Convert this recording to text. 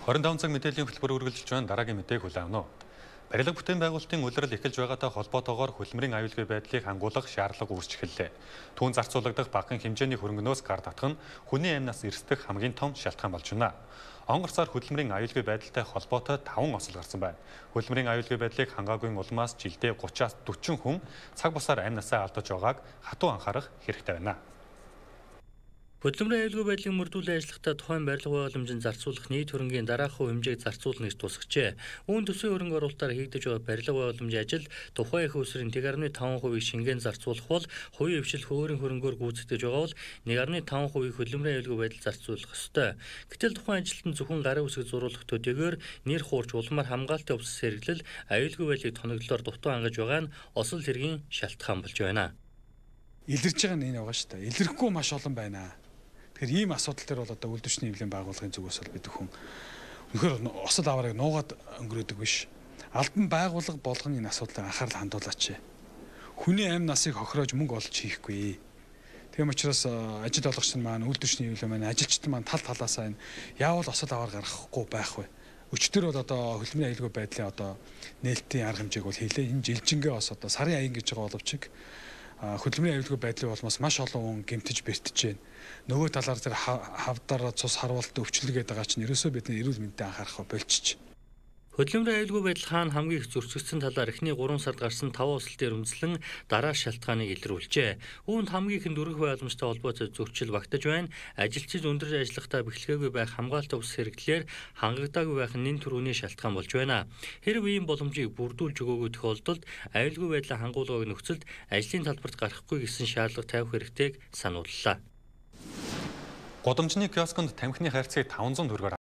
25 цаг мэдээллийн хөтөлбөр үргэлжилж байна. Дараагийн мэдээг хүлээн авна. Барилга бүтээн байгуулалтын улирал эхэлж байгаатай холбоотойгоор хөдөлмөрийн аюулгүй байдлыг хангуулах шаардлага үүсч эхэллээ. Түүн зарцуулагдах багахан хэмжээний хөрөнгөнөөс гар татах нь хүний амнаас эрсдэх хамгийн том шалтгаан болж байна. Онгор сар хөдөлмөрийн аюулгүй байдалтай холбоотой 5 осол гарсан байна. Хөдөлмөрийн аюулгүй байдлыг хангаагүй улмаас жилдээ 30-аас 40 хүн цаг бусаар амнасаа алдаж байгааг хатуу анхаарах хэрэгтэй байна. Хөдөлмөрийн аюулгүй байдлыг мөрдүүлэн ажиллахдаа тухайн барилга байгууламжинд зарцуулах нийт хөрөнгийн дараах хувь хэмжээг зарцуулна гэж тусагчээ. Үүн төсвийн хөрөнгө оруулалтаар хийгдэж байгаа барилга байгууламжийн ажил тухайн их усрын 1.5% шингэн зарцуулах бол хувийн хвшил хөөрийн хөрөнгөөр гүйцэтгэж байгаа бол 1.5% хөдөлмөрийн аюулгүй байдал зарцуулах ёстой. Гэтэл тухайн ажилтан зөвхөн гарын үсэг зурулах төдийгээр нэр хуурч улмаар хамгаалтын увс сэргэлэл аюулгүй байдлыг тоноглолоор дутуу хангаж байгаа нь осол хэргийн шалтгаан болж байна. Илэрж байгаа нь энэ байгаа шүү дээ. Илэрхгүй маш олон байна. Тэгэхээр ийм асуудал төр бол одоо үйлдвэрчний эвлэлийн байгууллагын зүгээс бол бид хүн үнэхээр осол аварыг нуугаад өнгөрөөдөг биш. Албан байгууллага болгон энэ асуудлыг анхаарал хандуулаач. Хүний амь насыг хохироож мөнгө олж хийхгүй. Тийм учраас ажил олгогч маань үйлдвэрчний эвлэл маань ажилчид маань тал талаасаа энэ яавал осол аваар гаргахгүй байх вэ? Өчтөр бол одоо хөдөлмөрийн аюулгүй байдлын одоо нээлтийн арга хэмжээг бол хийлээ. Энэ жилжингээ бас одоо сарын аян гэж байгаа боловч хөдөлмөрийн аюулгүй байдлын улмаас маш олон хүн гэмтэж бэртэж байна. Нөгөө талаар зэрэг хавдар цус харуулт өвчлөг гэдэг байгаа чинь ерөөсөө бидний эрүүл мэндэд анхаарах болчих. Хөдөлмөрийн аюулгүй байдал хаана хамгийн их зөрчигдсөн талаар эхний 3 сард гарсан 5 осол дээр үндэслэн дараа шалтгааныг илрүүлжээ. Үүнд хамгийн ихэнд дөрвөх байгууламжтай холбоотой зөрчил багтаж байна. Ажилчид өндөр ажиллахдаа бэхлэгээгүй байх хамгаалалт ус хэрэглэлээр хангагдаагүй байх нь нэн төрөний шалтгаан болж байна. Хэрв ийм боломжийг бүрдүүлж өгөөгүй тохиолдолд аюулгүй байдлаа хангуулгыг нөхцөлд ажлын талбарт гарахгүй гэсэн шаардлага тавих хэрэгтэйг санууллаа. Гудамжны киосконд тамхины хайрцгийг 500 төгрөгөөр